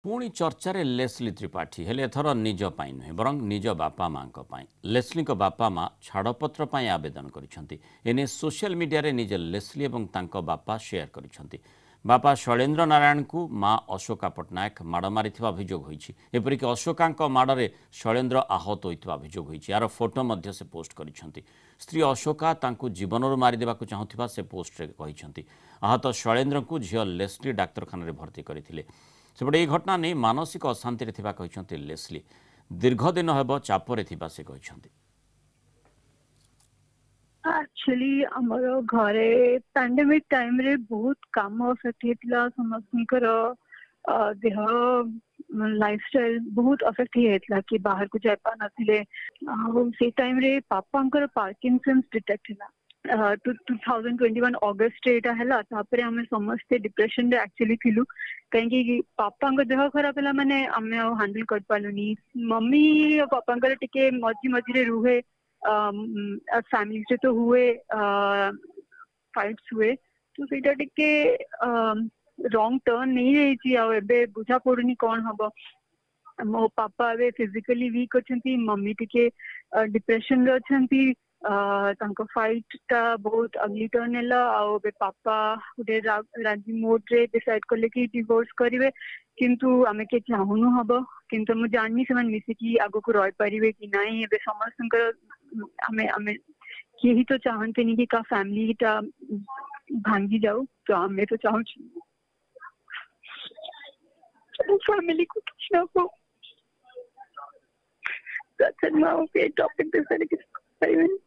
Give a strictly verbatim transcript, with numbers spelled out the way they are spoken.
ପୁଣି ଚର୍ଚ୍ଚାରେ ଲେସ୍ଲି ତ୍ରିପାଠୀ। ହେଲେ ଏଥର ନିଜ ପାଇଁ ନୁହେଁ, ବରଂ ନିଜ ବାପା ମାଆଙ୍କ ପାଇଁ। ଲେସ୍ଲିଙ୍କ ବାପା ମା ଛାଡ଼ପତ୍ର ପାଇଁ ଆବେଦନ କରିଛନ୍ତି। ଏନେଇ ସୋସିଆଲ ମିଡିଆରେ ନିଜେ ଲେସ୍ଲି ଏବଂ ତାଙ୍କ ବାପା ସେୟାର କରିଛନ୍ତି। ବାପା ଶୈଳେନ୍ଦ୍ର ନାରାୟଣଙ୍କୁ ମା ଅଶୋକା ପଟ୍ଟନାୟକ ମାଡ଼ ମାରିଥିବା ଅଭିଯୋଗ ହୋଇଛି। ଏପରିକି ଅଶୋକାଙ୍କ ମାଡ଼ରେ ଶୈଳେନ୍ଦ୍ର ଆହତ ହୋଇଥିବା ଅଭିଯୋଗ ହୋଇଛି। ଏହାର ଫଟୋ ମଧ୍ୟ ସେ ପୋଷ୍ଟ କରିଛନ୍ତି। ସ୍ତ୍ରୀ ଅଶୋକା ତାଙ୍କୁ ଜୀବନରୁ ମାରିଦେବାକୁ ଚାହୁଁଥିବା ସେ ପୋଷ୍ଟରେ କହିଛନ୍ତି। ଆହତ ଶୈଳେନ୍ଦ୍ରଙ୍କୁ ଝିଅ ଲେସ୍ଲି ଡାକ୍ତରଖାନାରେ ଭର୍ତ୍ତି କରିଥିଲେ। ସେପଟେ ଏହି ଘଟଣା ନେଇ ମାନସିକ ଅଶାନ୍ତିରେ ଥିବା କହିଛନ୍ତି ଲେସ୍ଲି। ଦୀର୍ଘ ଦିନ ହେବ ଚାପରେ ଥିବା ସେ କହିଛନ୍ତି। ଆକ୍ଚୁଆଲି ଆମର ଘରେ ପାଣ୍ଡେମିକ ଟାଇମରେ ବହୁତ କାମ ଅଫେକ୍ଟ ହେଇଥିଲା। ସମସ୍ତଙ୍କର ଦେହ, ଲାଇଫଷ୍ଟାଇଲ ବହୁତ ଅଫେକ୍ଟ ହେଇଯାଇଥିଲା କି ବାହାରକୁ ଯାଇପାରୁନଥିଲେ। ଆଉ ସେଇ ଟାଇମରେ ପାପାଙ୍କର ପାର୍କିନସନ୍ସ ଡିଟେକ୍ଟ ହେଲା ଟୁ ଥାଉଜେଣ୍ଡ ଟ୍ୱେଣ୍ଟି ୱାନ୍ ଅଗଷ୍ଟରେ ଏଇଟା ହେଲା। ତାପରେ ଆମେ ସମସ୍ତେ ଡିପ୍ରେସନରେ ଆକ୍ଚୁଆଲି ଥିଲୁ, କାହିଁକି ପାପାଙ୍କ ଦେହ ଖରାପ ହେଲା ମାନେ ଆମେ ଆଉ ହ୍ୟାଣ୍ଡେଲ କରିପାରିଲୁନି। ମମି ଆଉ ପାପାଙ୍କର ଟିକେ ମଝି ମଝିରେ ରୁହେ, ଫ୍ୟାମିଲିରେ ତ ହୁଏ, ଫାଇଟ୍ସ ହୁଏ, ତ ସେଇଟା ଟିକେ ରଙ୍ଗ ଟର୍ନ ନେଇଯାଇଛି। ଆଉ ଏବେ ବୁଝା ପଡୁନି କଣ ହବ। ମୋ ପାପା ଏବେ ଫିଜିକାଲି ୱିକ୍ ଅଛନ୍ତି, ମମି ଟିକେ ଡିପ୍ରେସନରେ ଅଛନ୍ତି। ତାଙ୍କ ଫାଇଟ୍ ଟା ବହୁତ ଅଗଲି ଟର୍ନ ନେଲା। ଆଉ ଏବେ ପାପା ଗୋଟେ ରାଜି ମୋଡରେ ଡିସାଇଡ୍ କଲେ କି ଡିଭୋର୍ସ କରିବେ, କିନ୍ତୁ ଆମେ କେହି ଚାହୁଁନୁ ହବ। କିନ୍ତୁ ମୁଁ ଜାଣିନି ସେମାନେ ମିଶିକି ଆଗକୁ ରହିପାରିବେ କି ନାହିଁ। ଏବେ ସମସ୍ତଙ୍କର ଆମେ ଆମେ କେହି ତ ଚାହାନ୍ତିନି କି କାହା ଫ୍ୟାମିଲିଟା ଭାଙ୍ଗି ଯାଉ, ତ ଆମେ ତ ଚାହୁଁଛୁ ଫ୍ୟାମିଲିକୁ କିଛି ନ ହଉ। ମୁଁ ଆଉ ଏ ଟପିକ ବିଷୟରେ କିଛି କହିପାରିବିନି।